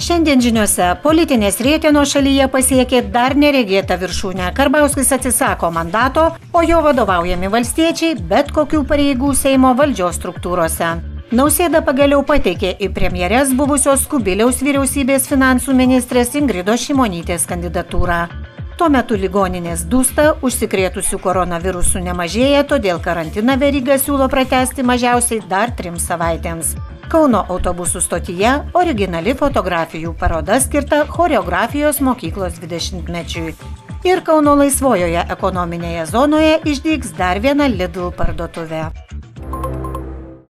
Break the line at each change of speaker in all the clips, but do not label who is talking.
Šiandien žiniuose politinės rietenos šalyje pasiekė dar neregėtą viršūnę. Karbauskis atsisako mandato, o jo vadovaujami valstiečiai bet kokių pareigų Seimo valdžios struktūrose. Nausėda pagaliau pateikė į premjeres buvusios Kubiliaus vyriausybės finansų ministrės Ingridos Šimonytės kandidatūrą. Tuo metu ligoninės dūsta, užsikrėtusių koronavirusų nemažėja, todėl karantiną Veryga siūlo pratęsti mažiausiai dar 3 savaitėms. Kauno autobusų stotyje originali fotografijų paroda skirta choreografijos mokyklos 20-mečiui. Ir Kauno laisvojoje ekonominėje zonoje išdygs dar viena Lidl parduotuvė.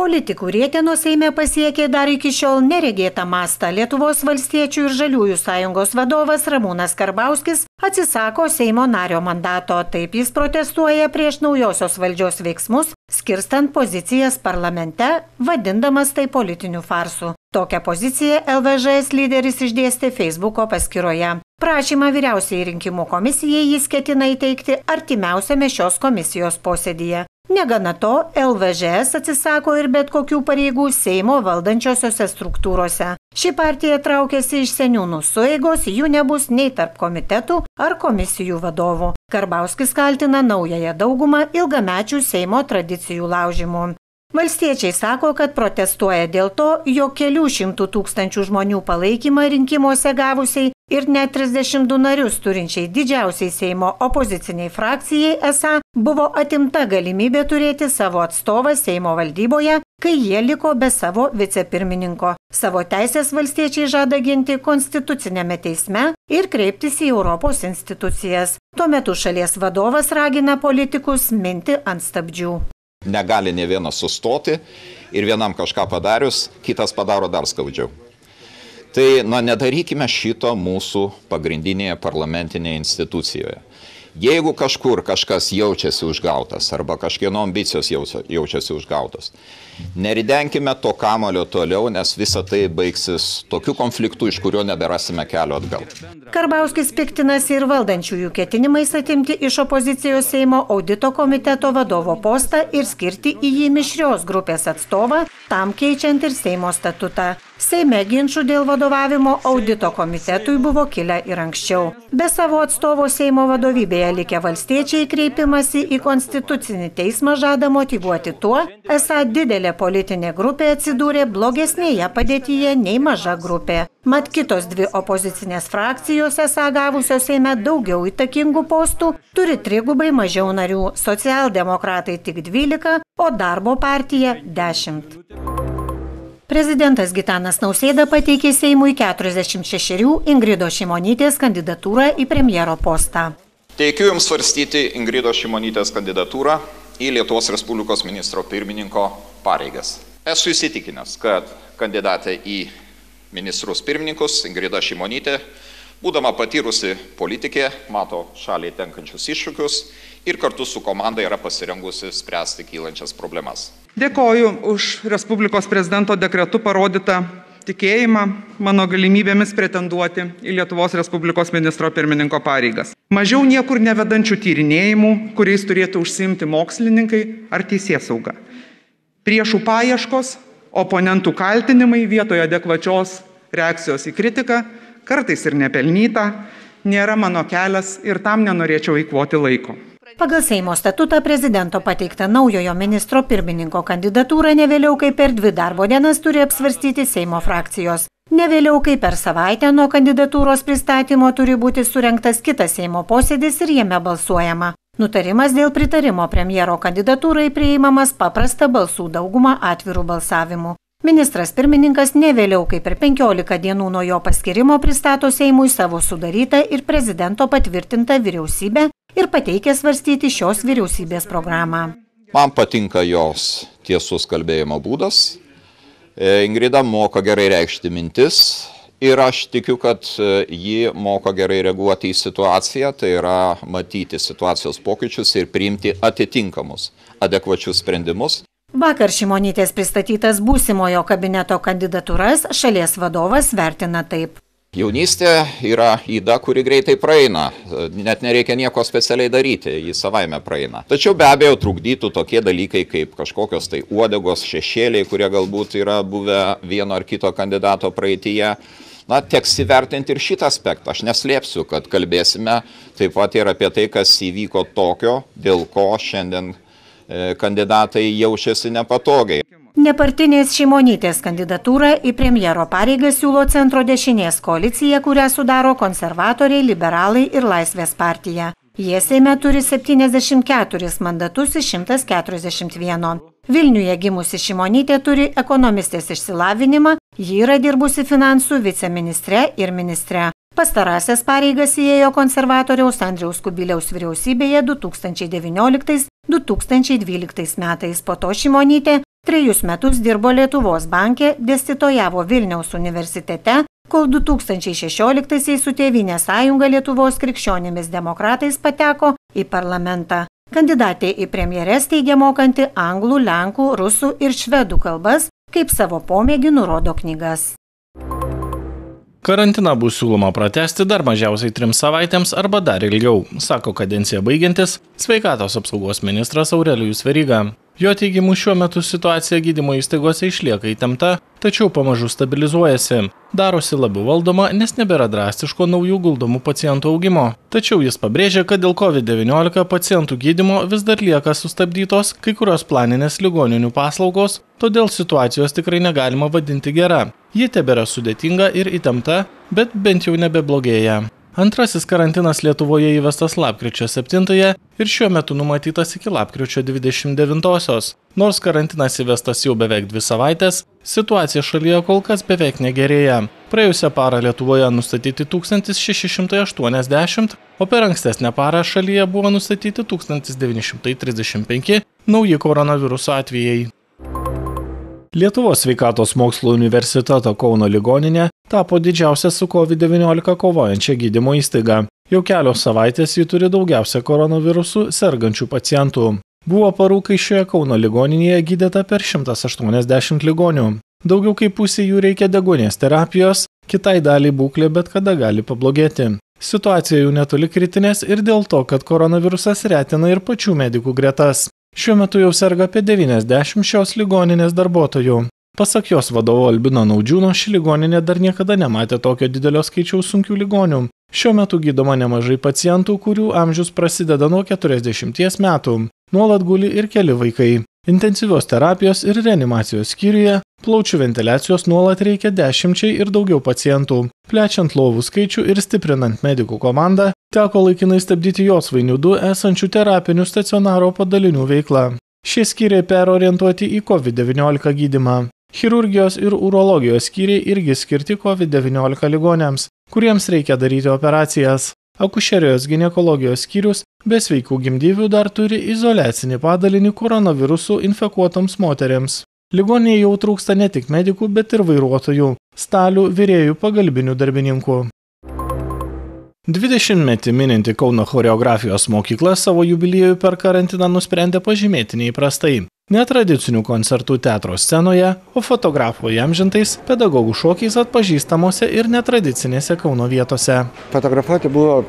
Politikų rietenos Seime pasiekė dar iki šiol neregėtą mastą. Lietuvos valstiečių ir žaliųjų sąjungos vadovas Ramūnas Karbauskis atsisako Seimo nario mandato. Taip jis protestuoja prieš naujosios valdžios veiksmus, skirstant pozicijas parlamente, vadindamas tai politiniu farsu. Tokią poziciją LVŽS lyderis išdėstė Facebooko paskyroje. Prašymą vyriausiai rinkimų komisijai jis ketina įteikti artimiausiame šios komisijos posėdyje. Negana to, LVŽS atsisako ir bet kokių pareigų Seimo valdančiosiose struktūrose. Ši partija traukiasi iš seniūnų sueigos, jų nebus nei tarp komitetų ar komisijų vadovų. Karbauskis kaltina naująją daugumą ilgamečių Seimo tradicijų laužimų. Valstiečiai sako, kad protestuoja dėl to, jog kelių šimtų tūkstančių žmonių palaikymą rinkimuose gavusiai ir net 32 narius turinčiai didžiausiai Seimo opoziciniai frakcijai esą buvo atimta galimybė turėti savo atstovą Seimo valdyboje, kai jie liko be savo vicepirmininko. Savo teisės valstiečiai žada ginti konstitucinėme teisme ir kreiptis į Europos institucijas. Tuo metu šalies vadovas ragina politikus minti ant stabdžių.
Negali ne vienas sustoti ir vienam kažką padarius, kitas padaro dar skaudžiau. Tai nedarykime šito mūsų pagrindinėje parlamentinėje institucijoje. Jeigu kažkur kažkas jaučiasi užgautas arba kažkieno ambicijos jaučiasi užgautas, neridenkime to kamuolio toliau, nes visa tai baigsis tokiu konfliktu, iš kurio neberasime kelio atgal.
Karbauskis piktinasi ir valdančiųjų ketinimais atimti iš opozicijos Seimo audito komiteto vadovo postą ir skirti į jį mišrios grupės atstovą, tam keičiant ir Seimo statutą. Seime ginčų dėl vadovavimo audito komitetui buvo kilę ir anksčiau. Be savo atstovo Seimo vadovybėje likę valstiečiai kreipimasi į konstitucinį teismą žada motyvuoti tuo, esą didelė politinė grupė atsidūrė blogesnėje padėtyje nei maža grupė. Mat kitos 2 opozicinės frakcijos esą gavusios Seime daugiau įtakingų postų turi 3 mažiau narių, socialdemokratai tik 12, o Darbo partija 10. Prezidentas Gitanas Nausėda pateikė Seimui 46 Ingridos Šimonytės kandidatūrą į premjero postą.
Teikiu Jums svarstyti Ingridos Šimonytės kandidatūrą į Lietuvos Respublikos ministro pirmininko pareigas. Esu įsitikinęs, kad kandidatė į ministrus pirmininkus Ingrida Šimonytė, būdama patyrusi politikė, mato šaliai tenkančius iššūkius ir kartu su komanda yra pasirengusi spręsti kylančias problemas.
Dėkoju už Respublikos prezidento dekretu parodytą tikėjimą mano galimybėmis pretenduoti į Lietuvos Respublikos ministro pirmininko pareigas. Mažiau niekur nevedančių tyrinėjimų, kuriais turėtų užsiimti mokslininkai ar teisėsauga. Priešų paieškos, oponentų kaltinimai vietoje adekvačios reakcijos į kritiką, kartais ir nepelnyta, nėra mano kelias ir tam nenorėčiau eikvoti laiko.
Pagal Seimo statutą prezidento pateiktą naujojo ministro pirmininko kandidatūrą ne vėliau kaip per 2 darbo dienas turi apsvarstyti Seimo frakcijos. Ne vėliau kaip per savaitę nuo kandidatūros pristatymo turi būti surengtas kitas Seimo posėdis ir jame balsuojama. Nutarimas dėl pritarimo premjero kandidatūrai priimamas paprasta balsų dauguma atvirų balsavimų. Ministras pirmininkas ne vėliau kaip per 15 dienų nuo jo paskirimo pristato Seimui savo sudarytą ir prezidento patvirtintą vyriausybę ir pateikia svarstyti šios vyriausybės programą.
Man patinka jos tiesus kalbėjimo būdas. Ingrida moka gerai reikšti mintis ir aš tikiu, kad ji moka gerai reaguoti į situaciją, tai yra matyti situacijos pokyčius ir priimti atitinkamus, adekvačius sprendimus.
Vakar Šimonytės pristatytas būsimojo kabineto kandidatūras šalies vadovas vertina taip.
Jaunystė yra yda, kuri greitai praeina, net nereikia nieko specialiai daryti, jį savaime praeina. Tačiau be abejo trukdytų tokie dalykai kaip kažkokios tai uodegos šešėliai, kurie galbūt yra buvę vieno ar kito kandidato praeityje. Na, teks įvertinti ir šitą aspektą. Aš neslėpsiu, kad kalbėsime taip pat ir apie tai, kas įvyko tokio, dėl ko šiandien kandidatai jaučiasi nepatogiai.
Nepartinės Šimonytės kandidatūrą į premjero pareigą siūlo centro dešinės koalicija, kurią sudaro konservatoriai, liberalai ir Laisvės partija. Jie Seime turi 74 mandatus iš 141. Vilniuje gimusi Šimonytė turi ekonomistės išsilavinimą, ji yra dirbusi finansų viceministre ir ministre. Pastarąsias pareigas įėjo konservatoriaus Andriaus Kubiliaus vyriausybėje 2019–2012 metais. Po to Šimonytė 3 metus dirbo Lietuvos banke, dėstytojavo Vilniaus universitete, kol 2016-aisiais su Tėvynės sąjunga Lietuvos krikščionimis demokratais pateko į parlamentą. Kandidatė į premjeres teigia mokanti anglų, lenkų, rusų ir švedų kalbas, kaip savo pomėgį nurodo knygas.
Karantiną bus siūloma pratęsti dar mažiausiai 3 savaitėms arba dar ilgiau, sako kadenciją baigiantis sveikatos apsaugos ministras Aurelijus Veryga. Jo teigimu šiuo metu situacija gydymo įstaigose išlieka įtempta, tačiau pamažu stabilizuojasi. Darosi labiau valdoma, nes nebėra drastiško naujų guldomų pacientų augimo. Tačiau jis pabrėžia, kad dėl COVID-19 pacientų gydymo vis dar lieka sustabdytos kai kurios planinės ligoninių paslaugos, todėl situacijos tikrai negalima vadinti gera. Ji tebėra sudėtinga ir įtempta, bet bent jau nebeblogėja. Antrasis karantinas Lietuvoje įvestas lapkričio 7-ąją ir šiuo metu numatytas iki lapkričio 29-osios. Nors karantinas įvestas jau beveik 2 savaitės, situacija šalyje kol kas beveik negerėja. Praėjusią parą Lietuvoje nustatyti 1680, o per ankstesnę parą šalyje buvo nustatyti 1935 nauji koronaviruso atvejai. Lietuvos sveikatos mokslo universiteto Kauno ligoninė tapo didžiausia su COVID-19 kovojančia gydymo įstaiga. Jau kelios savaitės ji turi daugiausia koronavirusų sergančių pacientų. Buvo parų, kai šioje Kauno ligoninėje gydyta per 180 ligonių. Daugiau kaip pusė jų reikia deguonies terapijos, kitai daliai būklė bet kada gali pablogėti. Situacija jau netoli kritinės ir dėl to, kad koronavirusas retina ir pačių medikų gretas. Šiuo metu jau serga apie 90 šios ligoninės darbuotojų. Pasak jos vadovo Albino Naudžiūno, ši ligoninė dar niekada nematė tokio didelio skaičiaus sunkių ligonių. Šiuo metu gydoma nemažai pacientų, kurių amžius prasideda nuo 40 metų. Nuolat guli ir keli vaikai. Intensyvios terapijos ir reanimacijos skyriuje plaučių ventiliacijos nuolat reikia 10 ir daugiau pacientų. Plečiant lovų skaičių ir stiprinant medikų komandą, teko laikinai stabdyti Josvainių 2 esančių terapinių stacionaro padalinių veiklą. Šie skyriai perorientuoti į COVID-19 gydymą. Chirurgijos ir urologijos skyriai irgi skirti COVID-19 ligoniams, kuriems reikia daryti operacijas. Akušerijos ginekologijos skyrius be sveikų gimdyvių dar turi izoliacinį padalinį koronavirusų infekuotoms moteriams. Ligoninėje jau trūksta ne tik medikų, bet ir vairuotojų, stalių, virėjų, pagalbinių darbininkų. 20-metį mininti Kauno choreografijos mokykla savo jubiliejų per karantiną nusprendė pažymėti neįprastai. Netradicinių koncertų teatro scenoje, o fotografų įamžintais pedagogų šokiais atpažįstamose ir netradicinėse Kauno vietose.
Fotografuoti buvo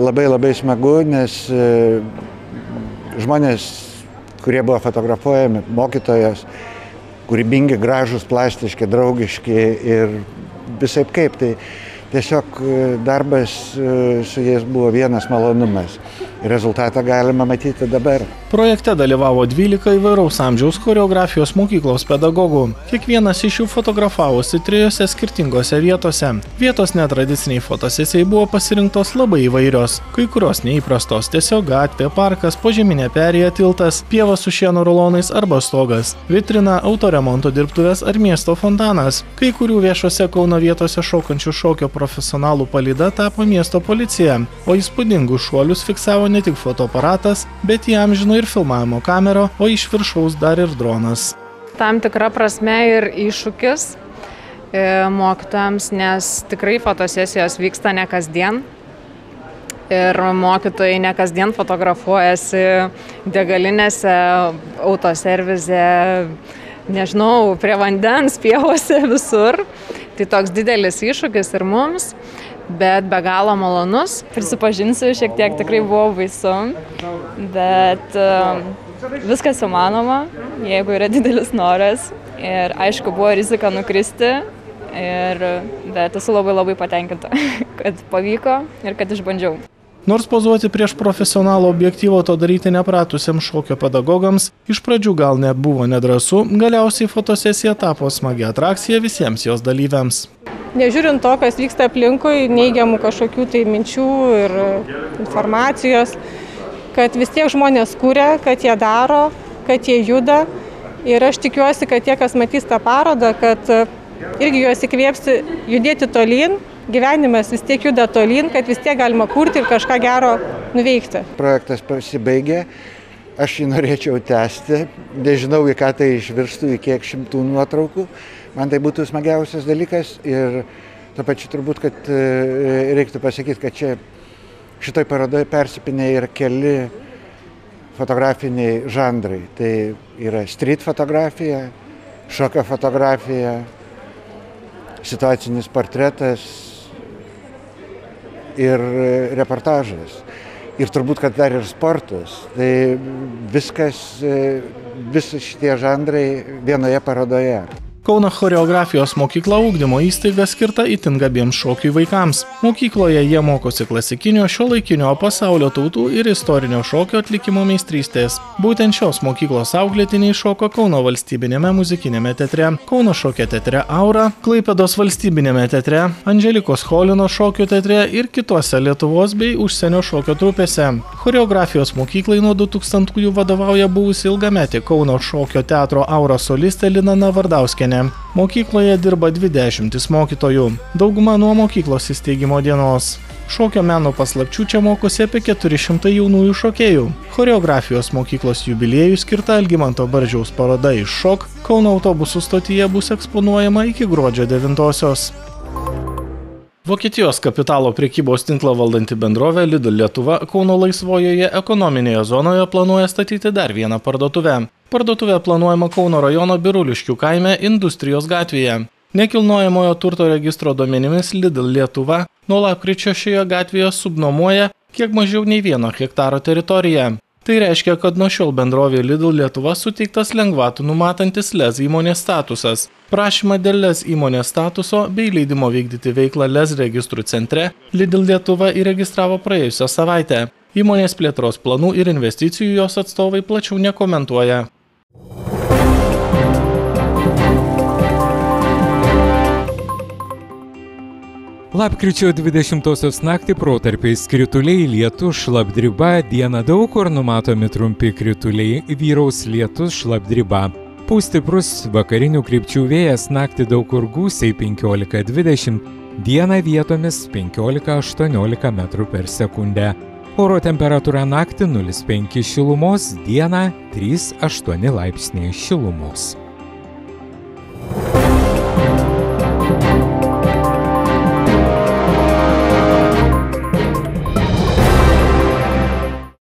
labai smagu, nes žmonės, kurie buvo fotografuojami, mokytojos, kūrybingi, gražūs, plastiški, draugiški ir visaip kaip. Tai tiesiog darbas su jais buvo vienas malonumas. Rezultatą galima matyti dabar.
Projekte dalyvavo 12 įvairaus amžiaus choreografijos mokyklos pedagogų. Kiekvienas iš jų fotografavosi 3 skirtingose vietose. Vietos netradiciniai fotosesijai buvo pasirinktos labai įvairios. Kai kurios neįprastos, tiesiog gatvė, parkas, požeminė perėja, tiltas, pieva su šieno rulonais arba stogas, vitrina, autoremonto dirbtuvės ar miesto fontanas. Kai kurių viešose Kauno vietose šokančių šokio profesionalų palyda tapo miesto policija, o įspūdingus šuolius fiksavo ne tik fotoaparatas, bet įamžino ir filmavimo kamera, o iš viršaus dar ir dronas.
Tam tikra prasme ir iššūkis mokytojams, nes tikrai fotosesijos vyksta ne kasdien. Ir mokytojai ne kasdien fotografuojasi degalinėse, autoservize, nežinau, prie vandens, pievose, visur. Tai toks didelis iššūkis ir mums, bet be galo malonus.
Prisipažinsiu, šiek tiek tikrai buvo baisu, bet viskas įmanoma, jeigu yra didelis noras. Ir aišku, buvo rizika nukristi bet esu labai patenkinta, kad pavyko ir kad išbandžiau.
Nors pozuoti prieš profesionalų objektyvo to daryti nepratusiam šokio pedagogams iš pradžių gal net buvo nedrąsu, galiausiai fotosesija tapo smagia atrakcija visiems jos dalyviams.
Nežiūrint to, kas vyksta aplinkui, neigiamų kažkokių tai minčių ir informacijos, kad vis tiek žmonės kuria, kad jie daro, kad jie juda. Ir aš tikiuosi, kad tie, kas matys tą parodą, kad irgi juos įkvėpsi judėti tolyn. Gyvenimas vis tiek juda tolyn, kad vis tiek galima kurti ir kažką gero nuveikti.
Projektas pasibaigė, aš jį norėčiau tęsti, nežinau, į ką tai išvirstų, į kiek šimtų nuotraukų. Man tai būtų smagiausias dalykas ir tuo pačiu turbūt, kad reiktų pasakyti, kad čia šitoj parodoje persipinė ir keli fotografiniai žanrai. Tai yra street fotografija, šokio fotografija, situacinis portretas ir reportažas. Ir turbūt, kad dar ir sportas. Tai visi šitie žanrai vienoje parodoje.
Kauno choreografijos mokykla ugdymo įstaiga skirta itin gabiems šokiui vaikams. Mokykloje jie mokosi klasikinio, šiuolaikinio, pasaulio tautų ir istorinio šokio atlikimo meistrystės. Būtent šios mokyklos auklėtiniai šoko Kauno valstybinėme muzikinėme teatre, Kauno šokio teatre Aura, Klaipėdos valstybinėme teatre, Andželikos Cholino šokio teatre ir kitose Lietuvos bei užsienio šokio trupėse. Choreografijos mokyklai nuo 2000-ųjų vadovauja buvusi ilgametė Kauno šokio teatro Aura solistė Lina Navardauskienė. Mokykloje dirba 20 mokytojų, dauguma nuo mokyklos įsteigimo dienos. Šokio meno paslapčių čia mokosi apie 400 jaunųjų šokėjų. Choreografijos mokyklos jubiliejui skirta Algimanto Baržiaus paroda Iš šok Kauno autobusų stotyje bus eksponuojama iki gruodžio 9-osios. Vokietijos kapitalo prekybos tinklą valdanti bendrovė Lidl Lietuva Kauno laisvojoje ekonominėje zonoje planuoja statyti dar vieną parduotuvę. Parduotuvė planuojama Kauno rajono Biruliškių kaime Industrijos gatvėje. Nekilnojamojo turto registro duomenimis Lidl Lietuva nuo lapkričio šioje gatvėje subnuomoja kiek mažiau nei 1 hektaro teritoriją. Tai reiškia, kad nuo šiol bendrovė Lidl Lietuva suteiktas lengvatų numatantis LEZ įmonės statusas. Prašymą dėl LEZ įmonės statuso bei leidimo vykdyti veiklą LEZ registrų centre Lidl Lietuva įregistravo praėjusią savaitę. Įmonės plėtros planų ir investicijų jos atstovai plačiau nekomentuoja.
Lapkričio 20-osios naktį protarpiais krituliai, lietus, šlapdriba, dieną daug kur numatomi trumpi krituliai, vyraus lietus, šlapdriba. Pūs stiprus vakarinių krypčių vėjas, naktį daug kur gūsiai 15–20, dieną vietomis 15–18 metrų per sekundę. Oro temperatūra naktį 0,5 šilumos, dieną 3,8 laipsniai šilumos.